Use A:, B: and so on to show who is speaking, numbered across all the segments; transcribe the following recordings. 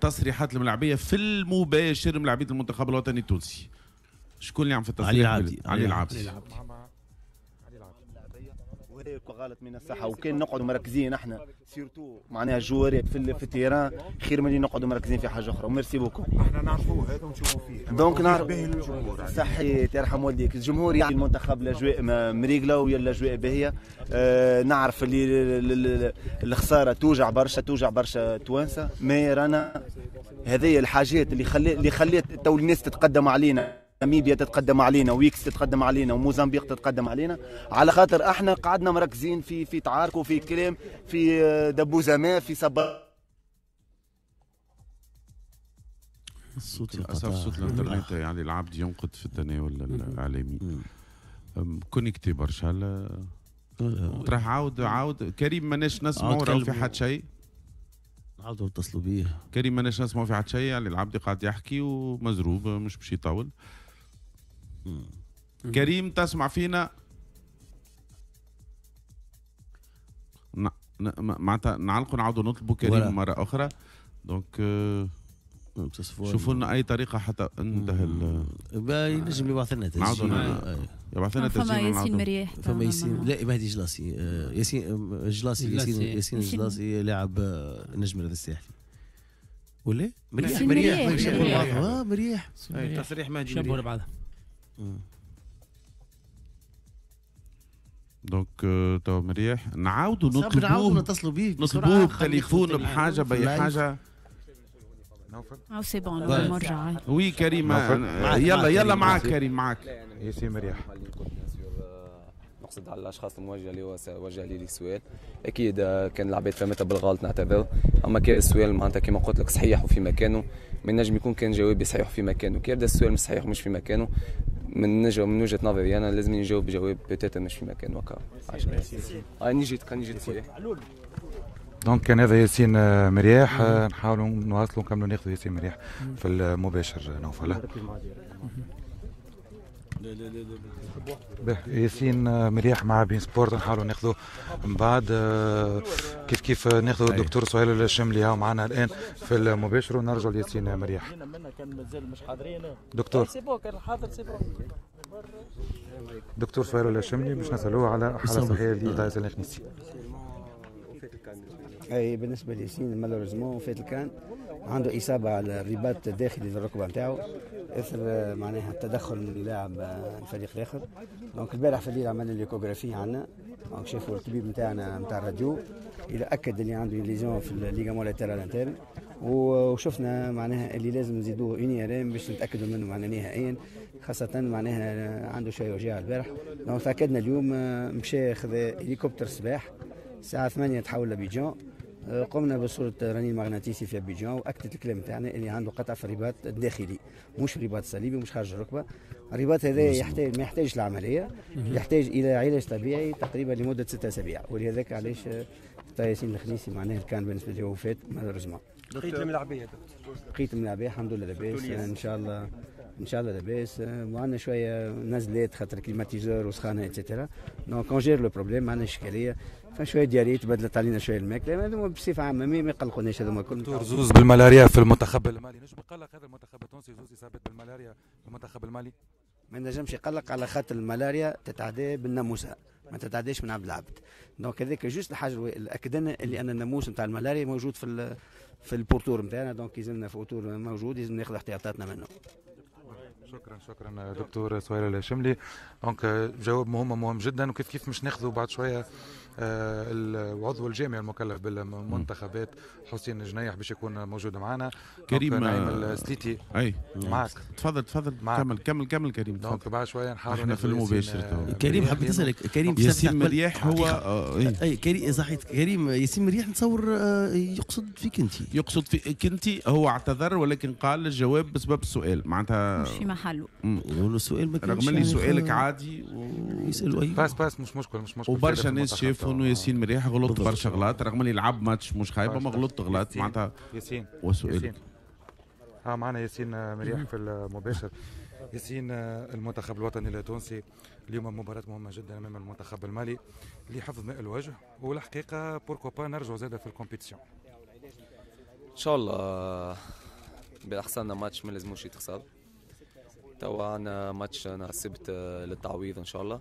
A: تصريحات الملاعبيه في المباشر، ملاعبيه المنتخب الوطني التونسي. شكون اللي عم في التصريح؟
B: علي العابدي.
A: علي العابدي.
C: وهذا غلط من الصحة، وكان نقعدوا مركزين احنا surtout معناها الجوارات في ال terrain خير من اللي نقعدوا مركزين في حاجة اخرى. merci beaucoup.
D: احنا نعرفوه هذا ونشوفوا فيه،
C: donc نعرف
D: باهي للجمهور.
C: صحيت، يرحم والديك. الجمهور يعني المنتخب الاجواء مريقله ويا الاجواء باهيه. نعرف اللي الخسارة توجع برشا، توجع برشا توانسة، mais رانا هذه الحاجات اللي خلات تو الناس تتقدم علينا، ناميبيا تتقدم علينا، ويكس تتقدم علينا، وموزمبيق تتقدم علينا، على خاطر احنا قعدنا مركزين في تعارك وفي كلام، في دبوزه ما، في صبا.
B: الصوت
A: للاسف صوت الانترنت يعني العبد ينقد في التناول الاعلامي connecté برشا. تروح عاود عاود كريم، ماناش نسمعوا راهو في حد شيء.
B: عاودوا اتصلوا بيه
A: كريم، ماناش نسمعوا في حد شيء. يعني العبد قاعد يحكي ومزروب مش باش يطول. كريم تسمع فينا؟ معناتها نعلقوا نعاودوا نطلبوا كريم مرة أخرى. donc شوفوا لنا أي طريقة حتى انتهى.
B: ينجم يبعث لنا تسجيل،
A: يبعث لنا تسجيل.
E: فما ياسين مرياح،
B: فما ياسين، لا مهدي جلاسي، ياسين جلاسي، ياسين جلاسي لاعب النجم الرياضي الساحلي ولا مرياح؟ مرياح مرياح
F: تصريح مهدي شبهوا لبعضها.
A: donc تو مرياح نعاودوا نطلبوه،
B: نتصلوا بيه،
A: نطلبوه بتليفون بحاجة باي حاجة.
E: او c'est bon نرجع.
A: oui كريم، يلا يلا معاك كريم، معاك
D: ياسين مرياح.
G: نقصد على الاشخاص الموجهة اللي هو وجه لي السؤال، اكيد كان العباد فهمتها بالغلط نعتذر، اما كان السؤال معناتها كما قلت لك صحيح وفي مكانه، ما نجم يكون كان جوابي صحيح وفي مكانه. كي يبدا السؤال مش صحيح ومش في مكانه، من وجهه نظري انا لازم نجاوب جواب peut-être مش في مكانه. هكا نجي نجي خويا.
D: donc كان هذا ياسين مرياح. نحاولوا نواصلوا نكملوا ناخذوا ياسين مرياح في المباشر نوفل. ياسين مرياح مع beIN Sports نحاولوا ناخذوا من بعد. كيف كيف ناخذوا الدكتور سهيل الشملي معنا الان في المباشر ونرجع لياسين مرياح. دكتور دكتور سهيل الشملي باش نسالوه على حاله صحية لطايس الخنيسي.
H: اي بالنسبة لياسين malheureusement فات الكان، عنده اصابه على الرباط الداخلي للركبه نتاعو اثر معناها التدخل من لاعب الفريق الاخر. donc البارح في الليل عملنا l'échographie عندنا، donc شافوا الطبيب نتاعنا نتاع الراديو الى اكد اللي عنده lésion في ال ligament latéral interne، وشفنا معناها اللي لازم نزيدوه une IRM باش نتاكدوا منه معناها نهائيا، خاصة معناها عنده شوية وجيعه البارح. donc تاكدنا اليوم، مشى خذ هليكوبتر الصباح الساعة 8 تحول لابيجان، قمنا بصورة رنين مغناطيسي في ابيجان واكدت الكلام تاعنا اللي عنده قطع في الرباط الداخلي، مش الرباط الصليبي، مش خارج الركبة. الرباط هذا يحتاج، ما يحتاجش العملية، يحتاج الى علاج طبيعي تقريبا لمدة 6 اسابيع، ولهذاك علاش ياسين الخنيسي معناه كان بالنسبة له فات malheureusement.
F: بقيت الملاعبيه دكتور؟
H: بقيت الملاعبيه الحمد لله لاباس، ان شاء الله ان شاء الله لاباس. وعندنا شوية نزلات خاطر climatiseur وسخانه et cetera، donc on gère le problème، ما عندناش اشكالية. فشوية diarrhée تبدلت علينا شوية الماكلة، هذوما بصفة عامة ما يقلقوناش هذوما الكل.
D: دكتور زوز بالملاريا في المنتخب المالي، نجم يقلق هذا المنتخب التونسي؟ زوز اصابات بالملاريا في المنتخب المالي؟
H: ما نجمش يقلق على خاطر الملاريا تتعدى بالناموسه، ما تتعداش من عبد العبد. donc هذاك juste الحاجة اللي اكدنا اللي ان الناموس نتاع الملاريا موجود في ال pourtour نتاعنا، donc يلزمنا في pourtour موجود، لازم ناخذ احتياطاتنا منه.
D: شكرا شكرا دكتور سهيل الشملي. donc جواب مهم مهم جدا. وكيف كيف مش ناخذوا بعد شوية العضو الجامعي المكلف بالمنتخبات حسين جنيح باش يكون موجود معنا.
A: كريم
D: نعيم السليتي
A: اي
D: معك،
A: تفضل تفضل، كمل كمل كمل كريم.
D: donc بعد شوية نحاولوا
A: احنا في المباشر.
B: كريم حبيت اسالك كريم،
A: ياسين مرياح هو
B: اي كريم صحيح كريم ياسين مرياح نتصور يقصد فيك انت،
A: يقصد فيك انت. هو اعتذر ولكن قال الجواب بسبب السؤال، معناتها
E: مش في محله.
B: السؤال ما
A: رغم اللي سؤالك عادي
B: يسالوا اي
D: باس باس مش مشكل مش مشكل.
A: وبرشا ناس شافوا انه ياسين مرياح غلط برشا غلط، رغم اللي لعب ماتش مش خايبة ما غلط غلط معناتها.
D: ياسين
A: وسؤالك
D: معنا ياسين مرياح في المباشر. ياسين، المنتخب الوطني التونسي اليوم مباراة مهمة جدا أمام المنتخب المالي لحفظ ماء الوجه، والحقيقة pourquoi pas نرجعوا زادة في ال compétition.
G: ان شاء الله باحسن ماتش ما لازموش يتخسر. توا عندنا ماتش نهار السبت للتعويض ان شاء الله.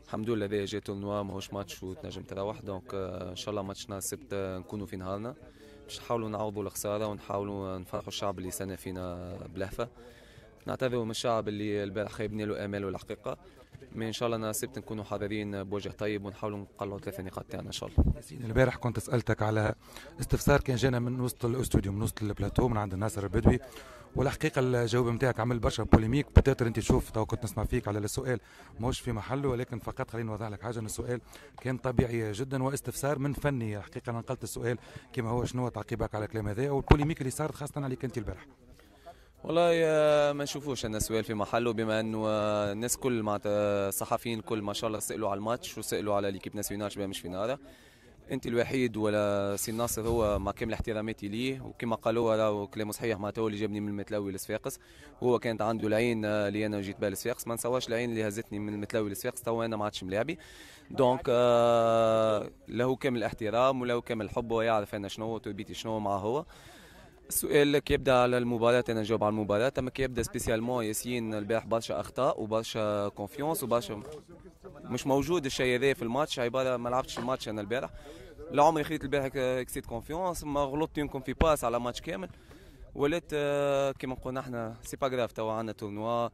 G: الحمد لله هذا جا tournoi ماهوش ماتش وتنجم تروح، donc ان شاء الله ماتش نهار السبت نكونوا في نهارنا باش نحاولوا نعوضوا الخسارة ونحاولوا نفرحوا الشعب اللي سنة فينا بلهفة. نعتذروا من الشعب اللي البارح خيبنا له اماله الحقيقة، mais ان شاء الله نهار السبت نكونوا حاضرين بوجه طيب ونحاولوا نقلعوا 3 نقاط تاعنا ان شاء الله.
D: ياسين البارح كنت سالتك على استفسار كان جانا من وسط الاستوديو، من وسط البلاتو، من عند ناصر البدوي، والحقيقة الجواب نتاعك عمل برشا polémique. peut-être انت تشوف تو كنت نسمع فيك على السؤال ماهوش في محله، ولكن فقط خليني نوضح لك حاجة، ان السؤال كان طبيعي جدا واستفسار من فني. الحقيقة انا نقلت السؤال كما هو، شنو تعقيبك على الكلام هذا وال polémique اللي صارت خاصة عليك انت البارح؟
G: والله ما نشوفوش ان السؤال في محله، بما انه الناس كل معناتها الصحفيين الكل ما شاء الله سالوا على الماتش وسالوا على l'équipe nationale مش في نهارها. انت الوحيد ولا سي ناصر هو مع كامل احتراماتي ليه، وكما قالوا راهو كلامه صحيح، معناتها هو اللي جابني من المتلوي لصفاقس، هو كانت عنده العين اللي انا جيت بها لصفاقس، ما نسواش العين اللي هزتني من المتلوي لصفاقس، توا انا ما عادش ملاعبي. donc له كامل الاحترام وله كامل الحب، ويعرف انا شنو تربيتي شنو معه هو. السؤال كي يبدا على المباراة انا نجاوب على المباراة، اما كي يبدا spécialement ياسين البارح برشا اخطاء وبرشا confiance وبرشا مش موجود الشيء هذا في الماتش، عبارة ما لعبتش الماتش انا البارح، لا عمري خذيت البارح excès de confiance، ما غلطت يمكن في passe على ماتش كامل، ولات كيما نقولوا احنا c'est pas grave، توا عندنا tournoi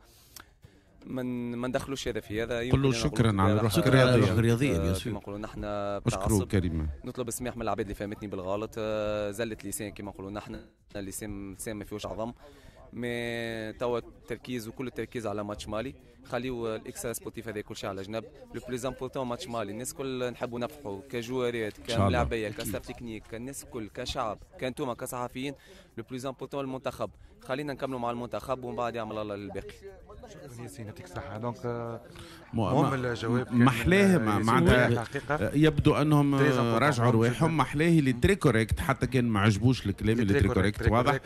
G: ما ندخلوش هذا في هذا.
A: قل له شكرا على الروح الرياضية،
G: كما نقولوا نحن
A: اشكروا كريم،
G: نطلب السماح من العباد اللي فهمتني بالغلط، زلت لسان كما نقولوا نحن، اللسان ما فيهوش عظم، mais توا التركيز وكل التركيز على ماتش مالي، خليو ال extra sportif هذا كل شيء على جنب، le plus important ماتش مالي، الناس الكل نحبوا نفرحوا كجوارات كملاعبيه ك staff technique، كالناس الكل كشعب كانتوما كصحفيين، le plus important المنتخب، خلينا نكملوا مع المنتخب ومن بعد يعمل الله للباقي.
D: شكرا ياسين، يعطيك الصحة. donc مهم الجواب
A: محلاه، معناتها يبدو انهم راجعوا رواحهم، محلاه اللي très correct، حتى كان ما عجبوش الكلام اللي très correct واضح.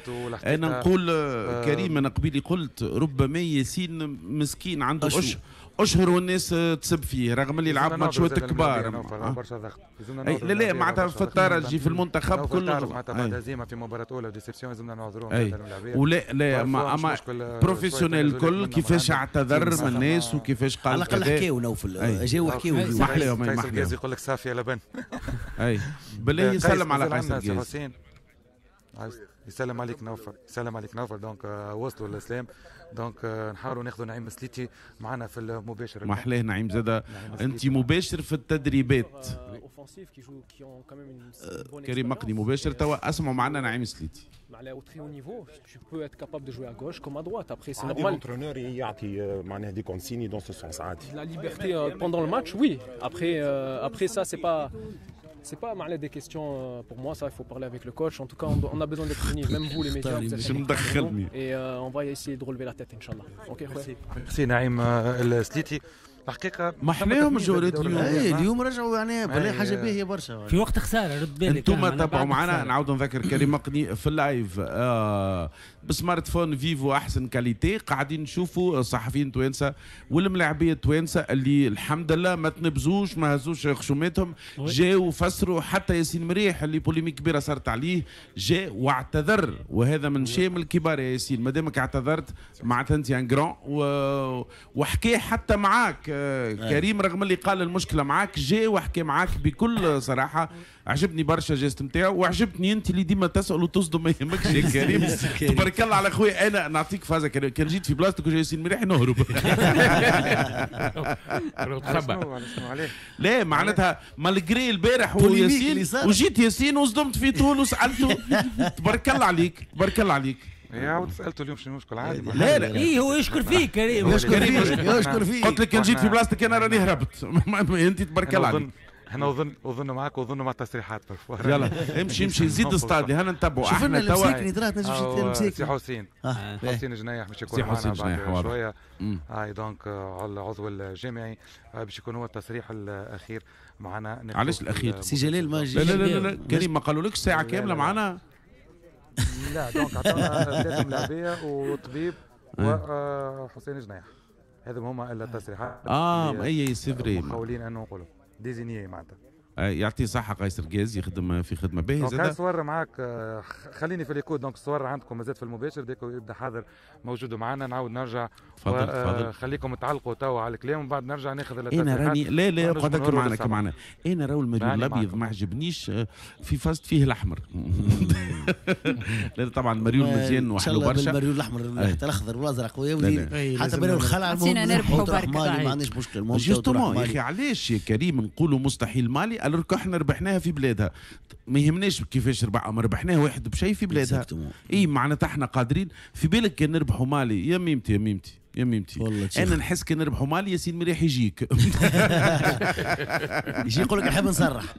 A: انا نقول كريم، انا قبيلي قلت ربما ياسين مسكين عنده اشهر والناس تسب فيه رغم اللي لعب ماتشات كبار،
D: برشا ضغط.
A: لا لا معناتها في الترجي في المنتخب كل
D: معناتها بعد هزيمة في مباراة اولى و déception لازمنا نعذروهم.
A: ولا لا اما professionnel الكل كيفاش اعتذر من الناس وكيفاش قال،
B: على الاقل حكاو نوفل، جاو حكاو.
A: محلاهم
D: قيس الجازي يقول لك صافي يا لبن.
A: اي بالله يسلم على قيس الجازي،
D: يسلم عليك نوفل، يسلم عليك نوفل. donc وصلوا للاسلام، donc نحاولوا ناخذوا نعيم سليتي معنا في المباشر.
A: محلاه نعيم زاده، انت مباشر في التدريبات. كريم مقني مباشر توا، اسمعوا معنا نعيم سليتي.
I: Au très haut niveau, tu peux être capable de jouer à gauche comme à droite. Après, c'est normal.
J: L'entraîneur يعطي معناها des consignes dans ce sens عادي.
I: La liberté pendant le match, oui. Après ça, c'est pas mal des questions pour moi, ça il faut parler avec le coach. En tout cas, on a besoin d'être unis, même vous les médias, vous êtes et on va essayer de relever la tête, inchallah. OK,
D: merci. Merci Naïm El-Sliti. الحقيقة
A: محلاهم الجولات اليوم،
B: اليوم رجعوا يعني بالله حاجة باهيه برشا
K: في وقت خسارة. رد بالك
A: انتم تابعوا معنا، نعاود نذكر كريم مقني في ال live ب smartphone فيفو احسن qualité، قاعدين نشوفوا الصحفيين التوانسة والملاعبيه التوانسة اللي الحمد لله ما تنبزوش ما هزوش خشوماتهم، جاوا فسروا. حتى ياسين مريح اللي polémique كبيرة صارت عليه جاء واعتذر، وهذا من شيم الكبار يا ياسين، ما دامك اعتذرت معناتها انت un grand، وحكي حتى معاك كريم رغم اللي قال المشكلة معاك، جاء وحكى معاك بكل صراحة. عجبني برشا geste نتاعو، وعجبتني انت اللي ديما تسال وتصدم، ما يهمكش يا كريم. تبارك الله على خويا، انا نعطيك فازة، كان جيت في بلاصتك وجا ياسين مريح نهرب. لا معناتها malgré البارح وياسين، وجيت ياسين وصدمت في طول وسالته، تبارك الله عليك، تبارك الله عليك.
D: عاود سالته اليوم شنو المشكل عادي.
A: لا لا
K: اي هو يشكر فيك كريم،
B: يشكر فيك.
A: قلت لك كان جيت في بلاصتك انا راني هربت. انت تبارك الله عليك.
D: احنا اظن معاك واظن مع التصريحات.
A: يلا امشي امشي زيد استادي، هنا نتبعوا احنا
B: توا.
D: سي حسين، حسين جنايح باش يكون معنا بعد شوية. هاي donc العضو الجامعي باش يكون هو التصريح الاخير معنا.
A: علاش الاخير؟
B: سي جلال ما
A: لا لا لا لا كريم ما قالولكش ساعة كاملة معنا؟
D: لا donc عطانا 3 ملاعبيه وطبيب وحسين جنايح، هذو هما التصريحات.
A: اي c'est vrai
D: محاولين انه نقولوا désigné معناتها.
A: يعطيه صحة قيس رقاز، يخدم في خدمة باهيه.
D: زاد صور معاك، خليني في l'écho. donc الصور عندكم مازال في المباشر، dès que يبدا حاضر موجود معنا نعاود نرجع.
A: تفضل تفضل،
D: خليكم تعلقوا توا على الكلام ومن بعد نرجع ناخذ التصريحات.
A: انا راني لا لا قعدك معنا معنا. انا راهو المريول الابيض ما عجبنيش في فاست فيه الاحمر. لا طبعا المريول مزيان وحلو برشا.
B: المريول الاحمر حتى الاخضر والازرق حتى بين الخلع،
E: المهم
B: ما عندناش مشكل.
A: justement يا اخي علاش يا كريم نقولوا مستحيل مالي alors احنا ربحناها في بلادها؟ ما يهمناش كيفاش ربح، ما ربحناها واحد بشيء في بلادها. اي معناتها احنا قادرين. في بالك كان نربحوا مالي يا ميمتي يا ميمتي يا ميمتي، انا نحس كان نربحوا مالي ياسين مريح يجيك
B: يجي يقول لك نحب نصرح.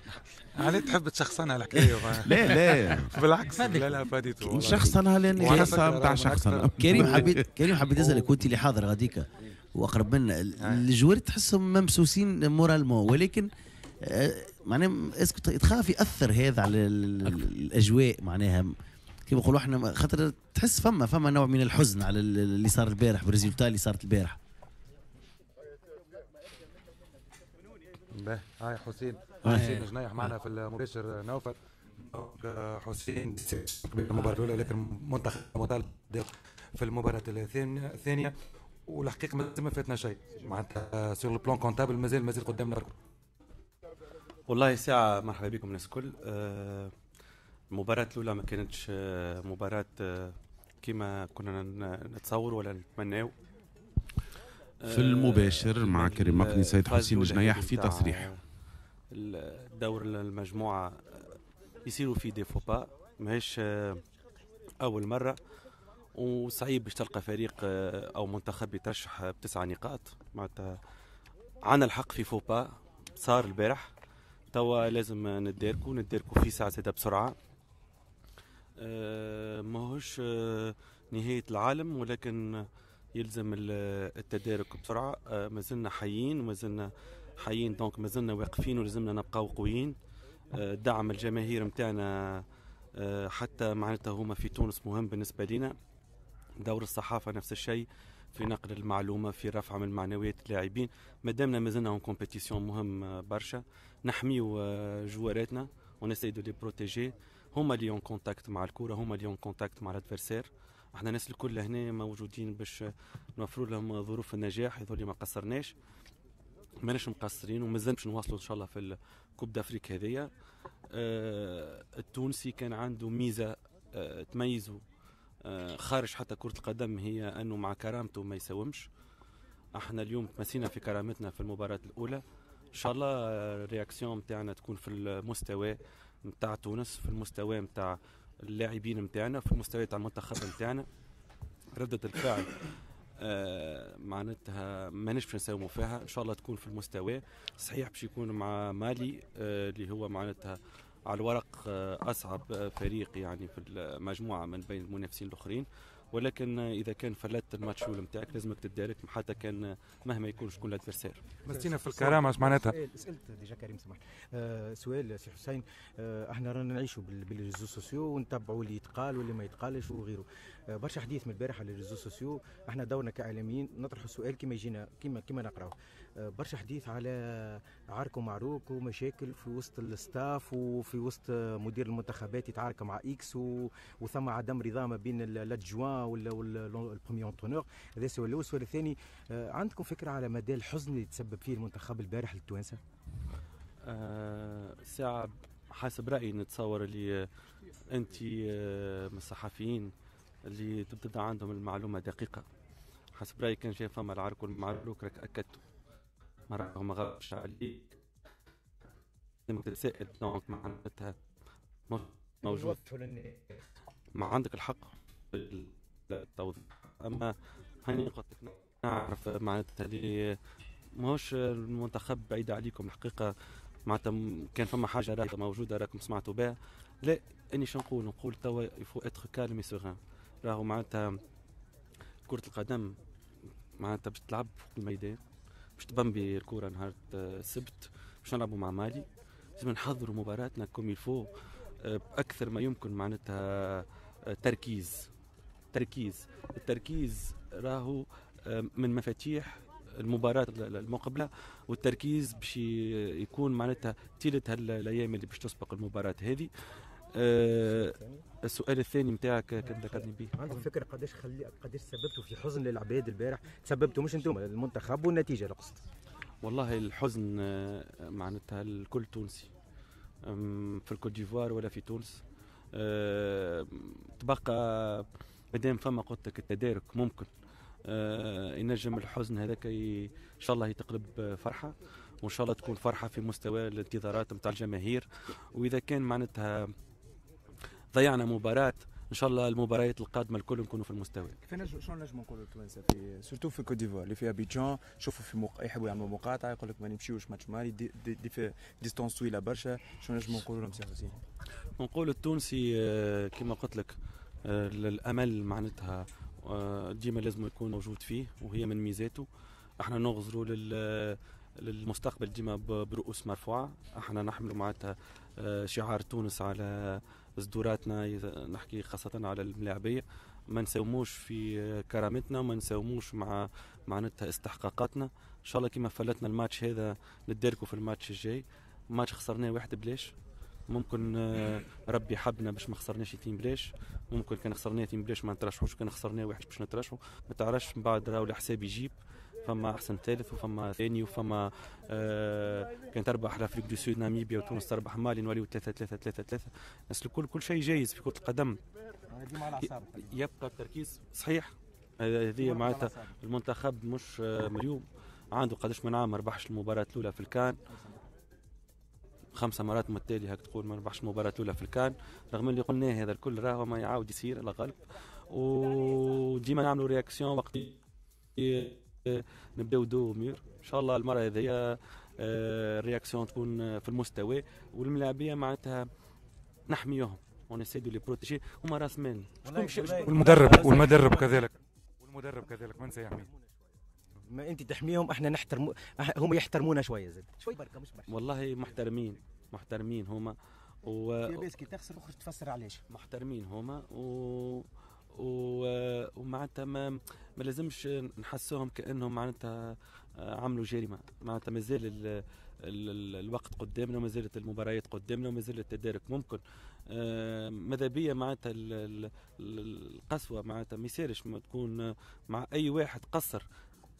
D: علي تحب تشخصنها الحكاية؟
A: لا لا
D: بالعكس، لا لا فاديته
A: شخصنها لان قصة نتاع شخصنها.
B: كريم حبيت اسالك، وانت اللي حاضر غاديكا واقرب منا، ال joueurs تحسهم ممسوسين moralement، ولكن معناها est-ce que تخاف ياثر هذا على الاجواء؟ معناها كيما نقولوا احنا، خاطر تحس فما نوع من الحزن على اللي صار البارح بال résultat اللي صارت البارح.
D: باهي هاي حسين جنيح معنا في المباشر. نوفل حسين المباراة الأولى، لكن منتخب مطالب في المباراة الثانية، والحقيقة ما فاتنا شيء معناتها sur le plan comptable مازال قدامنا.
L: والله ساعة مرحبا بكم الناس الكل. المباراة الأولى ما كانتش مباراة كما كنا نتصور ولا نتمناو.
A: في المباشر مع كريم مقني سيد حسين جنيح في تصريح.
L: الدور المجموعة يصيروا فيه des faux pas، ماهيش أول مرة، وصعيب باش تلقى فريق أو منتخب يترشح ب9 نقاط. معناتها عندنا الحق في faux pas صار البارح، توا لازم نداركو في ساعة زادة بسرعة. ماهوش نهاية العالم، ولكن يلزم التدارك بسرعة. مازلنا حيين ومازلنا حيين، donc مازلنا واقفين ولازمنا نبقاو قويين. دعم الجماهير نتاعنا حتى معناتها هما في تونس مهم بالنسبة لنا. دور الصحافة نفس الشيء في نقل المعلومة، في رفع من معنويات اللاعبين. مادامنا مازلنا en compétition مهم برشا نحميو جواراتنا on essaie de les protéger. هما اللي en contact مع الكورة، هما اللي en contact مع l'adversaire. احنا الناس الكل هنا موجودين باش نوفروا لهم ظروف النجاح. يظل ما قصرناش، ماناش مقصرين، ومازال باش نواصلوا ان شاء الله في ال Coupe d'Afrique هذيا. التونسي كان عنده ميزة تميزه خارج حتى كرة القدم، هي أنه مع كرامته ما يساومش. احنا اليوم تمسينا في كرامتنا في المباراة الأولى. إن شاء الله ال réaction نتاعنا تكون في المستوى نتاع تونس، في المستوى نتاع اللاعبين نتاعنا، في المستوى تاع المنتخب نتاعنا. ردة الفعل معناتها ماناش باش نساوموا فيها، إن شاء الله تكون في المستوى. صحيح باش يكون مع مالي اللي هو معناتها على الورق أصعب فريق يعني في المجموعة من بين المنافسين الآخرين، ولكن إذا كان فلت الماتش الأول نتاعك لازمك تدارك حتى كان مهما يكون شكون l'adversaire.
D: مسينا في الكرامة اش معناتها؟
F: سألت déjà كريم سمح سؤال سي حسين. احنا رانا نعيشوا بال réseaux sociaux ونتبعوا اللي يتقال واللي ما يتقالش وغيره. برشا حديث من البارح على les réseaux sociaux. احنا دورنا كاعلاميين نطرحوا السؤال كما يجينا كما نقراوه. برشا حديث على عرك ومعروك ومشاكل في وسط ال staff وفي وسط مدير المنتخبات يتعارك مع X وثم عدم رضا ما بين l'adjoint ولا ال premier entraîneur. هذا السؤال الاول. السؤال الثاني، عندكم فكرة على مدى الحزن اللي تسبب فيه المنتخب البارح للتوانسه؟
L: ساعة حسب رايي نتصور اللي انت من الصحفيين اللي تبدا عندهم المعلومة دقيقة. حسب رايي كان جاي فما العرك والمعروك راك اكدته، ما غابش عليك تتسائل، donc معناتها موجود، ما عندك الحق في التوضيح. اما هاني قلت لك نعرف معناتها اللي ماهوش المنتخب بعيد عليكم الحقيقة، معناتها كان فما حاجة راهي موجودة راكم سمعتوا بها. لا اني شنو نقول توا il faut être calme et serein. راهو معناتها كرة القدم معناتها باش تلعب فوق الميدان، باش تبمبي الكرة نهار السبت، باش نلعبوا مع مالي، لازم نحضروا مباراتنا comme il faut باكثر ما يمكن. معناتها تركيز تركيز التركيز راهو من مفاتيح المباراة المقبلة، والتركيز باش يكون معناتها طيلة الايام اللي باش تسبق المباراة هذه. السؤال الثاني نتاعك كان ذكرني به.
F: عندك فكرة قداش سببتوا في حزن للعباد البارح؟ تسببتوا مش انتم، المنتخب والنتيجة نقصد.
L: والله الحزن معناتها الكل تونسي في الكوت ديفوار ولا في تونس. تبقى مادام فما قلت لك التدارك ممكن ينجم الحزن هذاك ان شاء الله يتقلب فرحه، وان شاء الله تكون فرحه في مستوى الانتظارات نتاع الجماهير. واذا كان معناتها ضيعنا مباراة، ان شاء الله المباريات القادمة الكل نكونوا في المستوى.
M: كيف شنو نجموا نقولوا التوانسة في surtout في كوت ديفوار اللي فيها ابيجان، شوفوا في يحبوا يعملوا مقاطعه، يقول لك ما نمشيوش ماتش مالي دي في distance طويلة برشا، شنو نجموا نقولوا لهم سي حسين؟
L: نقول التونسي كما قلت لك الامل معناتها ديما لازم يكون موجود فيه، وهي من ميزاته. احنا نغزروا للمستقبل ديما برؤوس مرفوعة، احنا نحملوا معناتها شعار تونس على صدوراتنا، نحكي خاصة على الملاعبية، ما نساوموش في كرامتنا وما نساوموش مع معناتها استحقاقاتنا. ان شاء الله كما فلتنا الماتش هذا نداركوا في الماتش الجاي. ماتش خسرناه واحد بلاش، ممكن ربي حبنا باش ما خسرناش اثنين بلاش، ممكن كان خسرناه اثنين بلاش ما نترشحوش، كان خسرناه واحد باش نترشحوا، ما تعرفش من بعد راهو الحساب يجيب. فما احسن ثالث وفما ثاني وفما كان تربح l'Afrique du Sud ناميبيا وتونس تربح مالي نوليو 3 3 3 3. الناس الكل كل شيء جايز في كرة القدم، يبقى التركيز صحيح. هذه معناتها المنتخب مش اليوم عنده قداش من عام ما ربحش المباراة الأولى في الكان، 5 مرات متتالية هاك تقول ما ربحش المباراة الأولى في الكان، رغم اللي قلناه هذا الكل راهو ما يعاود يصير على غالب. وديما نعملوا réaction وقت نبداو dos au mur. ان شاء الله المرة هذه ال réaction تكون في المستوى، والملاعبيه معناتها نحميوهم، on essaie de les protéger، هما راس مال.
D: والمدرب كذلك، والمدرب كذلك من سيحميه؟
F: ما انت تحميهم، احنا نحترم، هم يحترمونا شوية زاد شوي بركة مش برشا.
L: والله محترمين، محترمين هما
F: في كي تخسر اخرج تفسر علاش.
L: محترمين هما ومعناتها ما لازمش نحسوهم كانهم معناتها عملوا جريمة. معناتها مازال الوقت قدامنا، وما زالت المباريات قدامنا، وما زال التدارك ممكن. ماذا بيا معناتها القسوة معناتها ما يصيرش تكون مع اي واحد قصر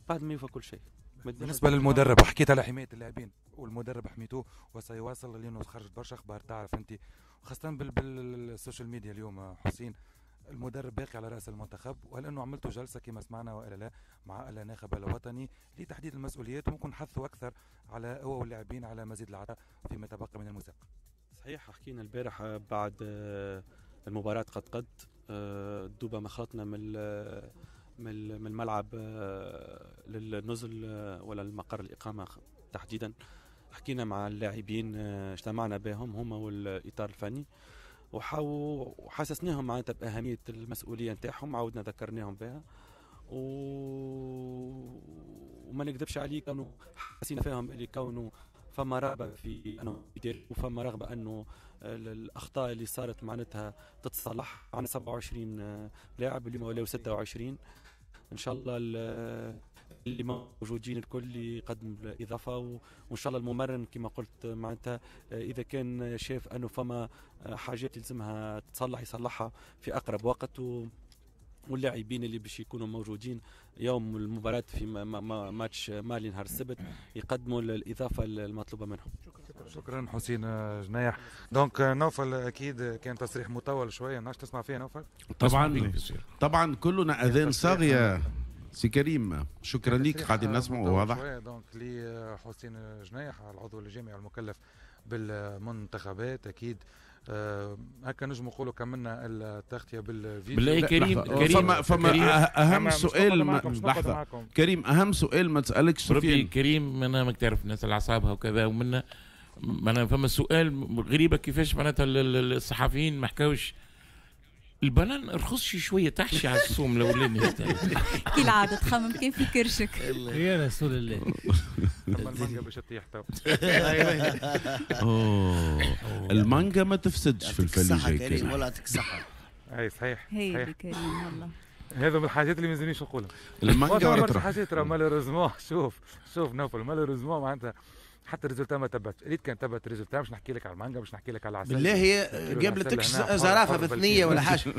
L: بعد ما يوفى كل شيء.
D: بالنسبة للمدرب حكيت على حماية اللاعبين، والمدرب حميتوه وسيواصل لانه خرجت برشا اخبار تعرف انت، خاصة بال social media اليوم حسين. المدرب باقي على راس المنتخب، وهل انه عملتوا جلسه كما سمعنا والا لا مع الناخب الوطني لتحديد المسؤوليات، وممكن حثوا اكثر على هو واللاعبين على مزيد العطاء فيما تبقى من المسابقة؟
L: صحيح، حكينا البارح بعد المباراة قد دوبا ما خلطنا من الملعب للنزل ولا المقر الاقامة تحديدا، حكينا مع اللاعبين، اجتمعنا بهم هما والاطار الفني، وحسسناهم معناتها بأهمية المسؤولية نتاعهم، عاودنا ذكرناهم بها. وما نكذبش عليك انه حسينا فيهم اللي كونه فما رغبة في انه يدير، وفما رغبة انه الاخطاء اللي صارت معناتها تتصلح. عندنا 27 لاعب اليوم ولاو 26، ان شاء الله اللي موجودين الكل يقدم الاضافة، وان شاء الله الممرن كما قلت معناتها اذا كان شاف انه فما حاجات يلزمها تصلح يصلحها في اقرب وقت، واللاعبين اللي باش يكونوا موجودين يوم المباراة في ماتش مالي نهار السبت يقدموا الإضافة المطلوبة منهم.
D: شكرا حسين جنايح. donc نوفل أكيد كان تصريح مطول شوية، ناش تسمع فيه نوفل؟
A: طبعا طبعا كلنا أذان صاغية سي كريم، شكرا لك، قاعدين نسمع واضح.
D: donc لحسين جنايح العضو الجامعي المكلف بالمنتخبات، اكيد هكا نجم نقولوا كملنا التغطية بالفيديو.
N: بالله كريم، كريم
A: فما كريم اهم سؤال لحظة كريم، اهم سؤال ما تسالكش
N: ربي كريم، انا ماك تعرف الناس على اعصابها وكذا، ومنا معناها فما سؤال غريبة كيفاش معناتها الصحفيين ما حكاوش البنان رخصش شوية تحشي على الصوم الاولاني.
E: كالعادة تخمم كان في كرشك.
K: يا رسول الله.
D: المانجا باش تطيح تو.
A: المانجا ما تفسدش في الفليجه.
B: كريم والله يعطيك الصحة.
D: اي صحيح.
E: هي كريم والله.
D: هذا من الحاجات اللي ما لازمنيش نقولها.
A: المانجا ولا
D: برشا حاجات راه malheureusement. شوف نوفل malheureusement معناتها حتى ال résultat ما تبعتش، ريت كان تبعت ال résultat باش نحكي لك على المانجا، باش نحكي لك على العسل.
B: بالله قابلتك زرافة بثنيه ولا حاجة.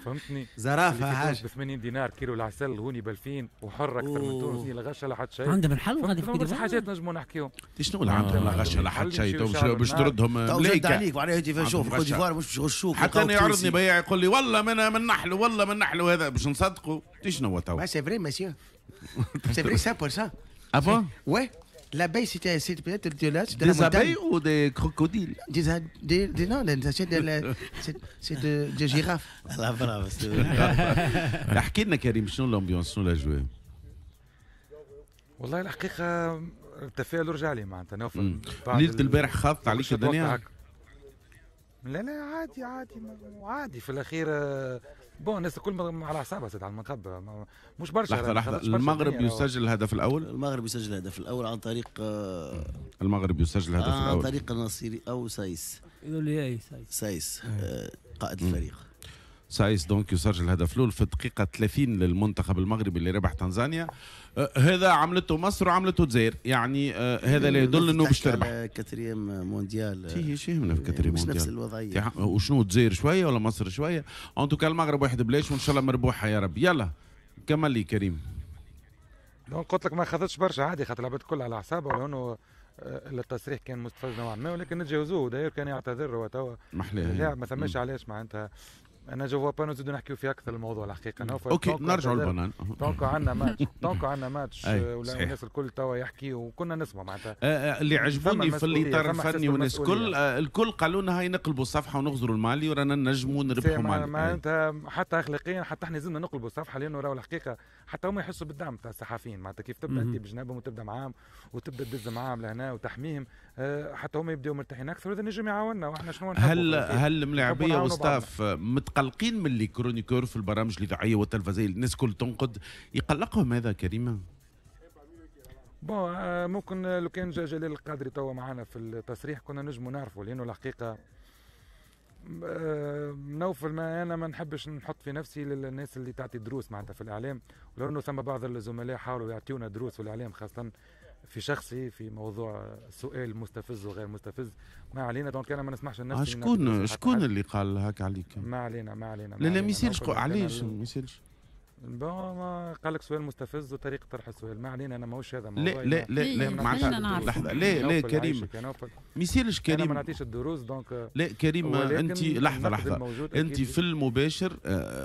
D: فهمتني؟
B: زرافة حاجة
D: ب 80 دينار كيلو العسل هوني ب 2000 وحر اكثر من تونس، لا غشه لا حتى شيء.
K: عندهم الحل غادي في
D: برشا حاجات نجموا نحكيهم.
A: شنو اللي عندهم لا غشه لا حتى شيء باش تردهم
B: ملايكة عليك وعليه انت شوف الكوت ديفوار مش باش يغشوك.
A: حتى انا يعرضني بياع يقول لي والله من نحلو والله من نحلو، هذا باش نصدقوا. شنو هو تو؟
O: c'est vrai monsieur, c'est vrai 100%.
A: Ah bon?
O: Ouais. L'abeille, c'était peut-être de là, c'est de
A: la montagne. Des abeilles ou des crocodiles?
O: Non, c'est des girafes.
B: لا برافو.
A: احكي لنا كريم شنو l'ambiance، شنو الاجواء؟
D: والله الحقيقة التفاؤل رجع لي معناتها نوفل.
A: ليلة البارح خاضت عليك الدنيا؟
D: لا لا عادي عادي عادي في الاخير. bon الناس الكل على اعصابها زاد على المنتخب مش برشا.
A: لحظة لحظة، المغرب يسجل الهدف الاول.
B: المغرب يسجل الهدف الاول عن طريق
A: المغرب يسجل الهدف الاول
B: عن طريق النصيري او سايس.
K: يقولوا لي سايس.
B: سايس قائد الفريق.
A: سايس donc يسجل الهدف الاول في الدقيقة 30 للمنتخب المغربي اللي ربح تنزانيا. هذا عملته مصر وعملته الجزائر، يعني هذا لا يدل انه باش تربح.
B: quatrième mondial.
A: شي يهمنا في quatrième
B: مش
A: مونديال؟
B: نفس الوضعية.
A: وشنو الجزائر شوية ولا مصر شوية؟ en tout cas المغرب واحد بلاش وان شاء الله مربوحه يا رب. يلا كمل لي كريم.
D: donc قلت لك ما خذتش برشا عادي خاطر العباد الكل على اعصابها، ولانه التصريح كان مستفز نوعا ما، ولكن نتجاوزوه. داير كان يعتذر هو توا
A: محلاه،
D: ما ثماش علاش معناتها. انا je vois pas نزيدو نحكيو في اكثر الموضوع الحقيقة.
A: OK نرجعوا للبنان.
D: donc عندنا match، donc عندنا ماتش ولا الناس الكل توا يحكي وكنا نسمع معناتها.
A: اللي عجبوني في الاطار الفني والناس الكل الكل قالوا لنا هاي نقلبوا الصفحة ونغزروا المالي ورانا نجموا نربحوا مالي.
D: معناتها حتى اخلاقيا حتى احنا لازمنا نقلبوا الصفحة، لانه راهو الحقيقة حتى هما يحسوا بالدعم تاع الصحفيين معناتها كيف تبدا انت بجنابهم وتبدا معاهم وتبدا تدز معاهم لهنا وتحميهم، حتى هما يبداو مرتاحين اكثر وهذا نجم يعاوننا. واحنا شنو
A: هل الملاعبيه و staff متقلقين من les chroniqueurs في البرامج الاذاعية والتلفزيونيه؟ الناس كل تنقد، يقلقهم هذا كريمة؟
D: bon ممكن لو كان جا جلال القادري توا معنا في التصريح كنا نجموا نعرفوا، لانه الحقيقة نوفل ما انا ما نحبش نحط في نفسي للناس اللي تعطي دروس معناتها في الاعلام، ولانه ثم بعض الزملاء حاولوا يعطيونا دروس في الاعلام خاصة في شخصي في موضوع سؤال مستفز وغير مستفز. ما علينا donc انا ما نسمحش لنفسي.
A: شكون اللي قال هكا عليك؟
D: ما علينا ما علينا.
A: لا لا ما يسالش. علاش ما يسالش؟
D: bon ما قال لك سؤال مستفز وطريقه طرح السؤال. ما علينا انا ماهوش هذا
A: موضوع. لا لا لا معناتها لحظة. لا لا كريم ما يسالش كريم.
D: انا ما نعطيش الدروس donc.
A: لا كريم انت لحظة لحظة، انت في المباشر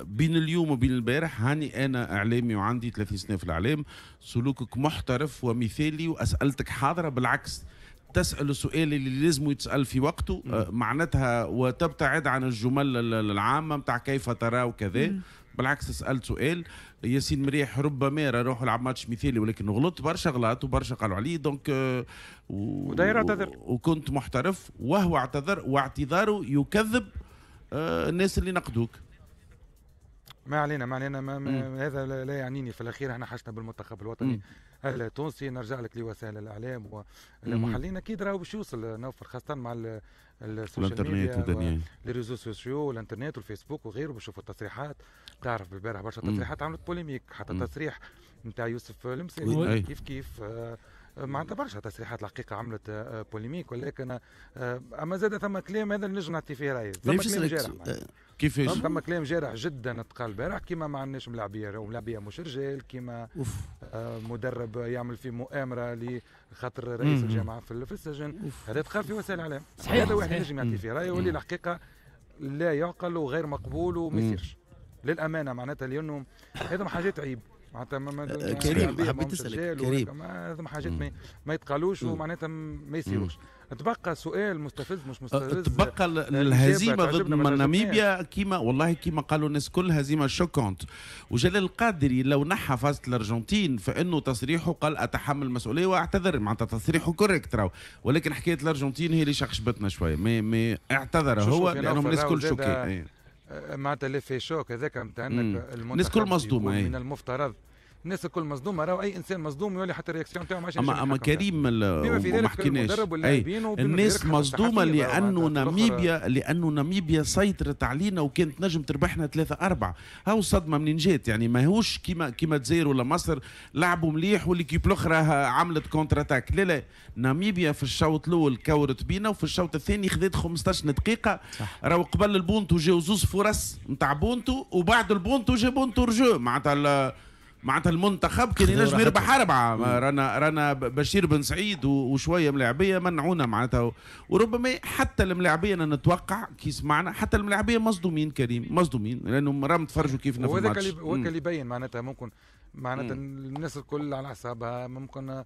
A: بين اليوم وبين البارح هاني انا اعلامي وعندي 30 سنة في الاعلام، سلوكك محترف ومثالي واسئلتك حاضره، بالعكس تسأل السؤال اللي لازم يتسأل في وقته معناتها، وتبتعد عن الجمل العامة نتاع كيف ترى وكذا. بالعكس سألت سؤال ياسين مريح ربما روح لعب ماتش مثالي ولكن غلط برشا غلط وبرشا قالوا عليه donc
D: وداير اعتذر
A: وكنت محترف وهو اعتذر واعتذاره يكذب الناس اللي نقدوك.
D: ما علينا ما علينا ما هذا لا يعنيني. في الاخير احنا حاجتنا بالمنتخب الوطني التونسي. نرجع لك لوسائل الاعلام والمحللين اكيد راهو باش يوصل نوفل خاصة مع ال social media les réseaux sociaux والانترنت والفيسبوك وغيره، باش يشوفوا التصريحات. تعرف بالبارح برشا تصريحات عملت polémique، حتى تصريح نتاع يوسف المساكني كيف كيف معناتها برشا تصريحات الحقيقة عملت polémique، ولكن اما زاد ثم كلام هذا اللي نجم نعطي فيه رايي. ثم كلام جارح
A: كيفاش؟
D: ثم كلام جارح جدا تقال البارح، كيما ما عندناش ملاعبيه وملاعبيه مش رجال، كيما مدرب يعمل في مؤامرة لخاطر رئيس الجامعة في السجن. هذا تقال في وسائل الاعلام. هذا واحد نجم يعطي فيه رايه واللي الحقيقة لا يعقل وغير مقبول وما يصيرش للامانة معناتها، لانه هذا حاجات عيب معناتها.
B: كريم حبيت اسالك كريم،
D: هذا حاجات ما يتقالوش ومعناتها ما يصيروش. تبقى سؤال مستفز مش مستفز.
A: تبقى الهزيمة ضد ناميبيا كيما والله كيما قالوا الناس كل هزيمة choquante. وجلال القادري لو نحى فازة الارجنتين فانه تصريحه قال اتحمل المسؤولية واعتذر، معناتها تصريحه correct راهو، ولكن حكاية الارجنتين هي اللي شخشبتنا شوية. mais اعتذر هو لانه الناس كل choqués
D: معناتها l'effet choc هذاك نتاع انك
A: الناس كل مصدومة.
D: من المفترض الناس الكل مصدومة، راهو اي انسان مصدوم يولي حتى ال réaction تاعو ما عادش
A: اما كريم ما حكيناش، الناس مصدومة لانه ناميبيا سيطرت علينا وكانت نجم تربحنا 3-4. هاو الصدمة منين جات؟ يعني ماهوش كيما الجزائر ولا مصر لعبوا مليح و l'équipe الاخرى عملت contre-attaque، لا لا، ناميبيا في الشوط الاول كورت بينا وفي الشوط الثاني خذت 15 دقيقة. راهو قبل البونتو جاو زوز فرص نتاع بونتو، وبعد البونتو جا بونتو رجو، معناتها المنتخب كان ينجم يربح 4. رانا بشير بن سعيد وشوية ملاعبيه منعونا معناتها، وربما حتى الملاعبيه انا نتوقع كي سمعنا حتى الملاعبيه مصدومين كريم، مصدومين لانهم راهم تفرجوا كيفنا في الماتش.
D: وهذاك اللي يبين معناتها ممكن معناتها الناس الكل على اعصابها. ممكن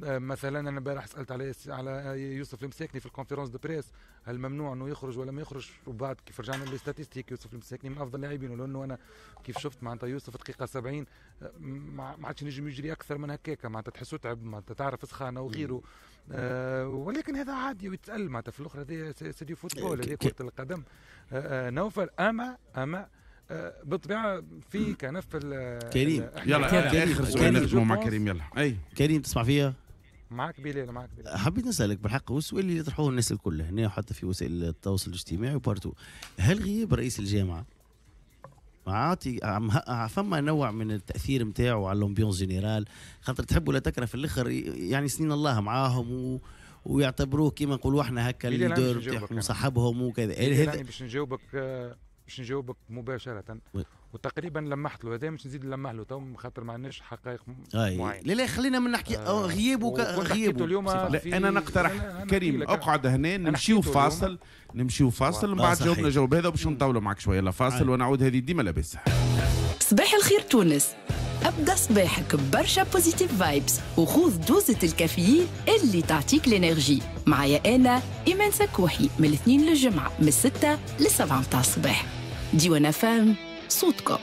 D: مثلا انا امبارح سالت على يوسف المساكني في ال conférence de presse، هل ممنوع انه يخرج ولا ما يخرج؟ وبعد كيف رجعنا لل statistiques يوسف المساكني من افضل اللاعبين، ولانه انا كيف شفت معناتها يوسف دقيقة 70 ما عادش نجم يجري اكثر من هكاك، معناتها تحسه تعب، معناتها تعرف سخانه وغيره. ولكن هذا عادي ويتسال معناتها في الاخر، هذه c'est du football، هذه كره القدم. نوفل اما بالطبيعة في كنف
B: كريم.
A: يلا اخر سؤال نختموا مع كريم. يلا اي
B: كريم تسمع فيا؟
D: معك بلال، معك بلال.
B: حبيت نسالك بالحق، والسؤال اللي يطرحوه الناس الكل هنا وحتى في وسائل التواصل الاجتماعي و partout، هل غياب رئيس الجامعة عاطي فما نوع من التاثير نتاعو على l'ambiance générale؟ خاطر تحب ولا تكره في الاخر يعني سنين الله معاهم ويعتبروه كيما نقولوا احنا هكا ال leader نتاعهم وصاحبهم وكذا.
D: هذا باش نجاوبك مباشرة، وتقريبا لمحت له هذا، مش نزيد نلمح له تو خاطر ما عندناش حقائق معينة.
B: لا لا خلينا من نحكي غيابه غيابه.
A: لا انا نقترح كريم اقعد هنا، نمشيو فاصل، نمشيو فاصل من بعد جاوبنا جاوب هذا باش نطولوا معك شوية. لا فاصل ونعود، هذه ديما لاباس.
P: صباح الخير تونس، ابدا صباحك برشا positive vibes وخذ دوزة الكافيين اللي تعطيك l'énergie. معايا انا ايمان سكوحي من الاثنين للجمعة من 6 ل 7 متاع الصباح. ديوان فام صوتكم.